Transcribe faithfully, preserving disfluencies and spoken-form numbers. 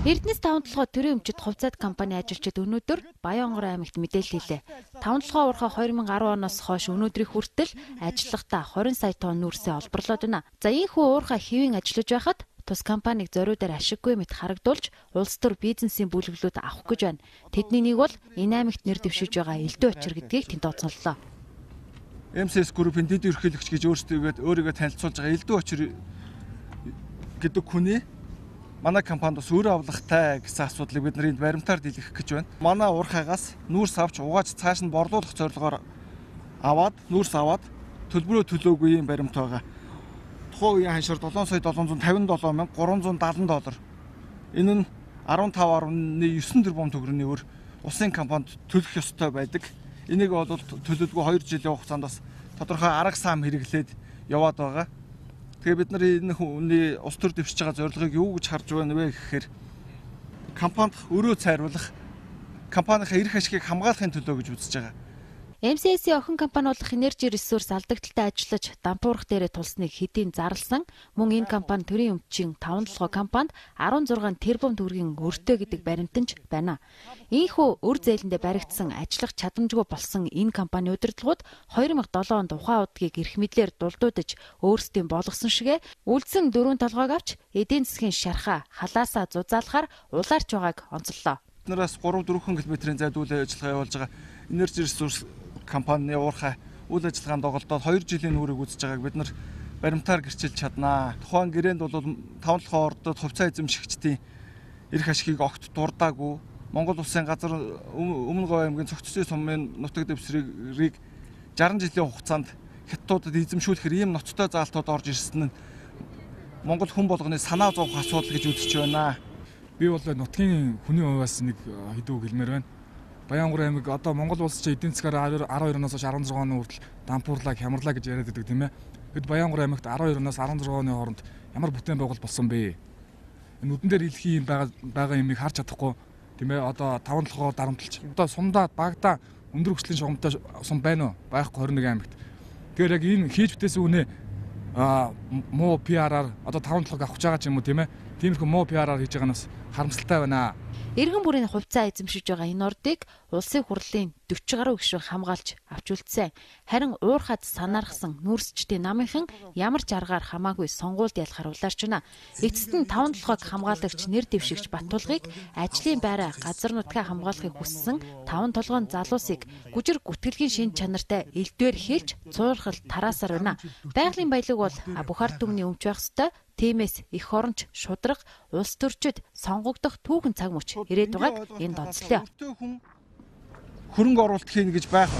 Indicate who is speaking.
Speaker 1: Эрдэнэс таван толгой төрийн өмчит хувьцаат компани ажилчид өнөөдөр Баянгор аймагт мэдээлэл хэлээ. таван толгой уурхай две тысячи десять оноос хойш өнөөдрийн хүртэл ажиллахдаа twenty сая тонн нүүрсээ олборлоод байна. За ийхүү уурхай хэвийн ажиллаж байхад тус компаниг зориудаар ашиггүй мэт харагдуулж улс төр бизнесийн бүлэглүүд авах гэж байна. Тэдний нэг бол энэ аймагт нэр дэвшиж байгаа Элдв Очир гэдгийг тэнд тооцооллоо.
Speaker 2: эм эс эс Group-ийн дэд ерөнхийлөгч гэж өөрсдөө өөрийгөө танилцуулж байгаа Элдв Очир гэдэг хүний манай компанид бас өөрөө авлагатай гэсэн асуудлыг бид нарыг баримтаар дэлгэх гэж байна. Манай уурхайгаас нүүрс авч угааж цааш нь борлуулах зорилгоор аваад нүүрс аваад төлбөрөө төлөөгүй юм баримт байгаа. Тухайн үеийн ханшаар seven сая seven hundred fifty-seven мянга three hundred seventy доллар. Энэ нь fifteen point nine тэрбум төгрөгийн өр улсын компанид төлөх ёстой байдаг. Энийг бол төлөлгүй two жилийн хугацаанд бас тодорхой арга сам хэрэглээд яваад байгаа. Тэгээ бид нар энэ хүний ус төр дэвшиж байгаа зорилгыг юу гэж харж байна вэ гэхээр компанид өрөө цайруулах, компанийнхаа эрх ашигыг хамгаалахын төлөө гэж үзэж байгаа.
Speaker 1: эм эс эс-ийн охин компани болох Energy Resource алдагдaltaй ажиллаж дампуурах дээрээ тулсныг хэдийн зарласан. Мөн энэ компани төрийн өмчийн таван толгой компанид sixteen тэрбум төгрөгийн өртөө гэдэг баримтанч байна. Ийхүү өр зээлэндээ баригдсан ажиллах чадамжгүй болсон энэ компани удирдлагууд two thousand seven онд ухаан удгийг эрх мэдлэр дулдуудаж өөрсдийн болгосон шигэ үлдсэн дөрвөн толгойг авч эдийн засгийн шархаа халаасаа зузаалахаар улаарч байгааг онцоллоо.
Speaker 2: Биднээс three four км-ийн зайд үйл ажиллагаа явуулж байгаа Energy Resource компани уурхай үйл ажиллагаанд доголдоод two жилийн нүрийг үзэж байгааг бид нар баримтаар гэрчилж чаднаа. Тухайн гэрээнд бол таван толгой ордод хувьцаа эзэмшигчдийн эрх ашигыг огт дурдаагүй. Монгол улсын газар Өмнө Говь аймгийн цогцлын сумын нутаг дэвсгэрийг sixty жилийн хугацаанд хятадуудад эзэмшүүлэхээр ийм ноцтой заалтууд орж ирсэн нь Монгол хүн болгоны санаа зовох асуудал гэж үзэж байна.
Speaker 3: Би бол нутгийн хүний хувьас нэг хэдүү хэлмээр байна. Баянгор аймаг одоо Монгол улс чинь эдийн засгаар twelve оноос хойш sixteen оны хүртэл дампуурлаа, хямрлаа гэж яриад байдаг тийм ээ. Бид Баянгор аймагт twelve оноос sixteen оны хооронд ямар бүтээн байгуул болсон бэ? Энэ нүдэн дээр илхий юм байгаа байгаа юмыг харж чадахгүй тийм ээ. Одоо таван толгой дарамтлж. Одоо сумдаа багада өндөр хүчлийн шугамтай сум байна уу? Байхгүй twenty-one аймагт. Тэгэхээр яг энэ хийж бүтээсэн үнэ а муу пи ар-аар одоо таван толгойг авах гэж байгаа ч юм уу тийм ээ. Тиймэрхүү муу пи ар-аар хийж байгаа нь бас харамсалтай байна.
Speaker 1: Иргэн бүрийн хувьцаа эзэмшиж байгаа энэ ордыг улсын хурлын forty гаруй гишүүн хамгаалж авч үлдсэн. Харин уурхад санаархсан нүүрсчдийн намынхан ямар ч аргаар хамаагүй сонгуульд ялахар улаарч байна. Эцэст нь таван толгойг хамгаалагч нэр дэвшигч Баттулгыг ажлын байраа газар нутгаа хамгаалахыг хүссэн таван толгойн залуусыг гүжир гүтгэлгийн шин чанартай элдвээр хэлж цуурхал тараасаар байна. Байгалийн баялаг бол бүх ард түмний өмч байх ёстой. Тиймээс их оронч шудраг улс төрчид сонгогдох түүхэн цаг мөч ирээд байгааг энд онцлоо.
Speaker 2: Хөрөнгө оруулалт хийнэ гэж байх